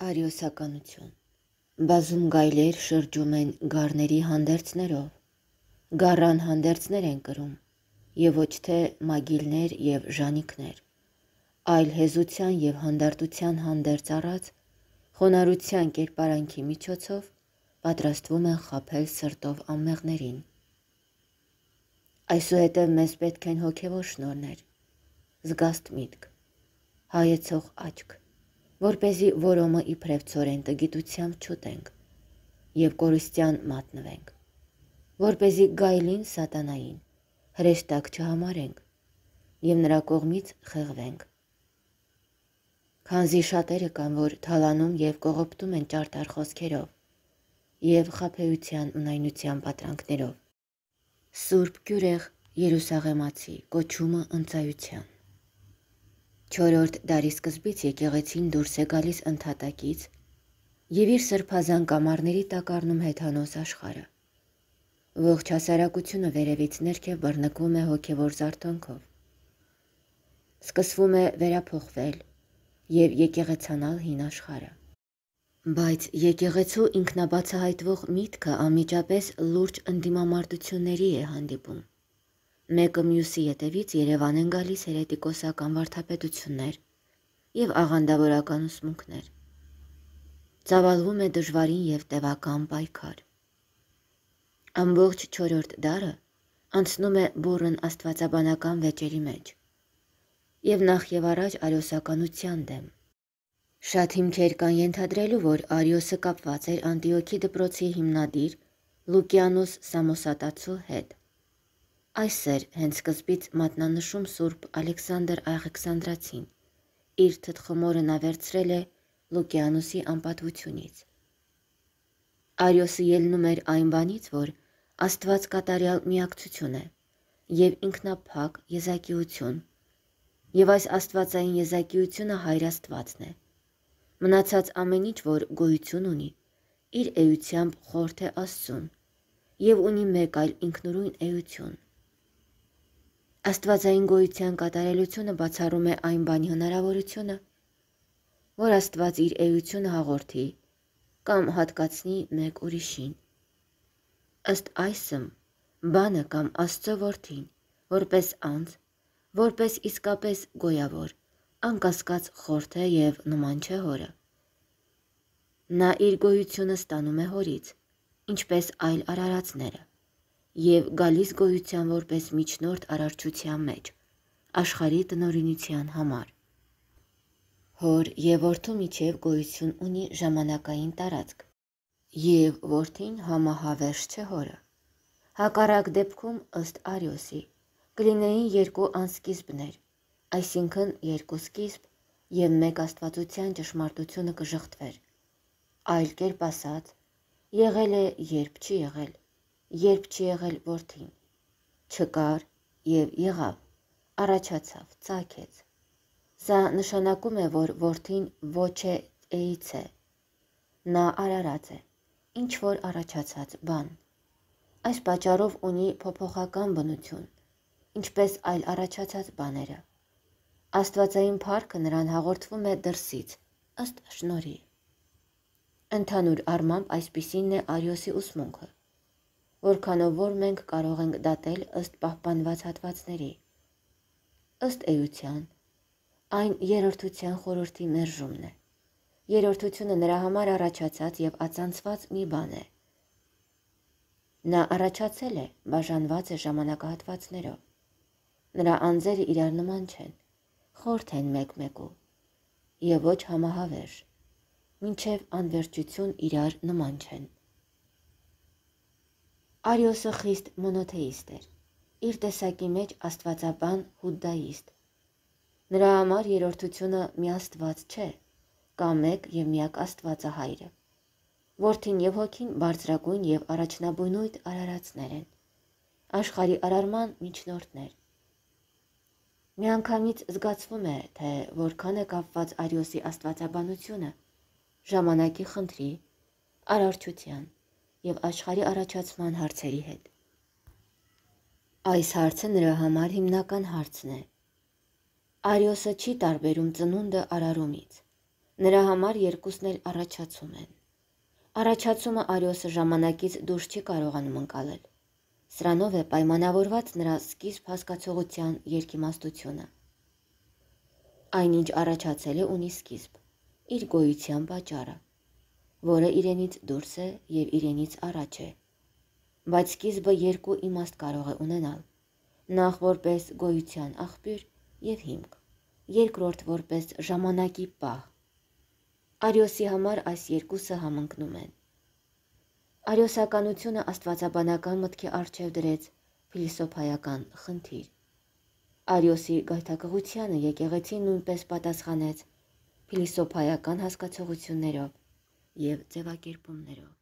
Արիոսականություն։ Բազում գայլեր շրջում են գառների հանդերձներով, գառան հանդերձներ են կրում, եւ ոչ թե մագիլներ եւ ժանիքներ, այլ հեզության եւ հանդարտության հանդերձ առած, խոնարհության կերպարանքի միջոցով պատրաստվում են խաբել սրտով անմեղներին։ Այսուհետև մեզ պետք են հոգևոր շնորհներ, զգաստ միտք, հայեցող աչք, որպեսզի որոմը իբրև ցորեն տգիտությամբ չուտենք եւ կորստյան մատնվենք, որպեսզի գայլին սատանային հրեշտակ չհամարենք եւ նրա կողմից խեղվենք։ Քանզի շատերը կան, որ թալանում եւ կողոպտում են ճարտար խոսքերով եւ խաբեության ունայնության պատրանքներով։ Սուրբ Գյուրեղ Երուսաղեմացի կոչումը ընծայության։ 4-րդ դարի սկզբից եկեղեցին դուրս է գալիս ընդհատակից եւ իր սրբազան կամարների տակ առնում հեթանոս աշխարհը։ Ողջ հասարակությունը վերևից ներքև բռնկվում է հոգևոր զարթոնքով։ Սկսվում է վերափոխվել եւ եկեղեցանալ հին աշխարհը։ Բայց եկեղեցու ինքնաբացահայտվող միտքը անմիջապես լուրջ ընդդիմամարտությունների է հանդիպում։ Մեկը մյուսի ետևից Երևան են գալիս հերետիկոսական վարդապետություններ եւ աղանդավորական ուսմունքներ։ Ծավալվում է դժվարին եւ տևական պայքար։ Ամբողջ 4-րդ դարը անցնում է բուռն աստվածաբանական վեճերի մեջ եւ նախ եւ առաջ արիոսականության դեմ։ Շատ հիմքեր կան ենթադրելու, որ Արիոսը կապված էր Անտիոքի դպրոցի հիմնադիր Լուկիանոս Սամոսատացու հետ։ Այս էր հենց սկզբից մատնանշում Սուրբ Ալեքսանդր Աղեքսանդրացին, իր թտխմորը նա վերցրել է Լուկիանոսի անպատվությունից։ Արիոսը ելնում էր այն բանից, որ Աստված կատարյալ միակցություն է եւ ինքնափակ եզակիություն, եւ այս աստվածային եզակիությունը Հայր Աստվածն է։ Մնացած ամեն ինչ, որ գոյություն ունի, իր էությամբ խորթ է Աստծուն եւ ունի մեկ այլ ինքնուրույն էություն։ Աստվածային գոյության կատարելությունը բացառում է այն բանի հնարավորությունը, որ Աստված իր էությունը հաղորդի կամ հատկացնի մեկ ուրիշին։ Ըստ այսմ, բանը կամ Աստծո որդին, որպես անձ, որպես իսկապես գոյավոր, անկասկած խորթ է եւ նման չէ հորը։ Նա իր գոյությունը ստանում է հորից, ինչպես այլ արարածները, եւ գալիս գոյության որպես միջնորդ արարչության մեջ, աշխարհի տնօրինության համար։ Հոր եւ որդու միջև գոյություն ունի ժամանակային տարածք, եւ որդին համահավերժ չէ հորը։ Հակառակ դեպքում, ըստ Արիոսի, կլինեին երկու անսկիզբներ, այսինքն երկու սկիզբ եւ մեկ աստվածության ճշմարտությունը կժխտվեր։ Այլ կերպ ասած, եղել է երբ չի եղել, երբ չի եղել որդին, չկար եւ եղավ, առաջացավ, ծագեց։ Սա նշանակում է, որ որդին ոչ է էից է, նա արարած է, ինչ որ առաջացած բան։ Այս պատճառով ունի փոփոխական բնություն, ինչպես այլ առաջացած բաները։ Աստվածային փառքը նրան հաղորդվում է դրսից, ըստ շնորհի։ Ընդհանուր առմամբ այսպիսին է Արիոսի ուսմունքը, որքանով որ մենք կարող ենք դատել ըստ պահպանված հատվածների։ Ըստ էության, այն երրորդության խորհրդի մերժումն է։ Երրորդությունը նրա համար առաջացած եւ ածանցված մի բան է։ Նա առաջացել է, բաժանված է ժամանակահատվածներով։ Նրա անձերը իրար նման չեն, խորթ են մեկ-մեկու եւ ոչ համահավերժ, մինչև անվերջություն իրար նման չեն։ Արիոսը խիստ մոնոթեիստ էր, իր տեսակի մեջ աստվածաբան հուդդայիստ։ Նրա համար երրորդությունը մի աստված չէ, կամ մեկ եւ միակ Աստվածը Հայրը։ Որդին եւ հոգին բարձրագույն եւ առաջնաբույնույթ արարածներ են, աշխարհի արարման միջնորդներ։ Միանգամից զգացվում է, թե որքան է կապված Արիոսի աստվածաբանությունը ժամանակի խնդրի, արարչության եւ աշխարհի առաջացման հարցերի հետ։ Այս հարցը նրա համար հիմնական հարցն է։ Արիոսը չի տարբերում ծնունդը արարումից։ Նրա համար երկուսն էլ առաջացում են։ Առաջացումը Արիոսը ժամանակից դուրս չի կարողանում ընկալել։ Սրանով է պայմանավորված նրա սկիզբ հասկացողության երկիմաստությունը։ Այն, ինչ առաջացել է, ունի սկիզբ, իր գոյության պատճառը, որը իրենից դուրս է և իրենից առաջ է, բայց սկիզբը երկու իմաստ կարող է ունենալ, նախ որպես գոյության աղբյուր և հիմք, երկրորդ որպես ժամանակի պահ։ Արիոսի համար այս երկուսը համընկնում են։ Արիոսականությունը աստվածաբանական մտքի առջև դրեց փիլիսոփայական խնդիր։ Արիոսի գայթակղությանը եկեղեցին նույնպես պատասխանեց փիլիսոփայական հասկացություններով և ձևակերպումներով։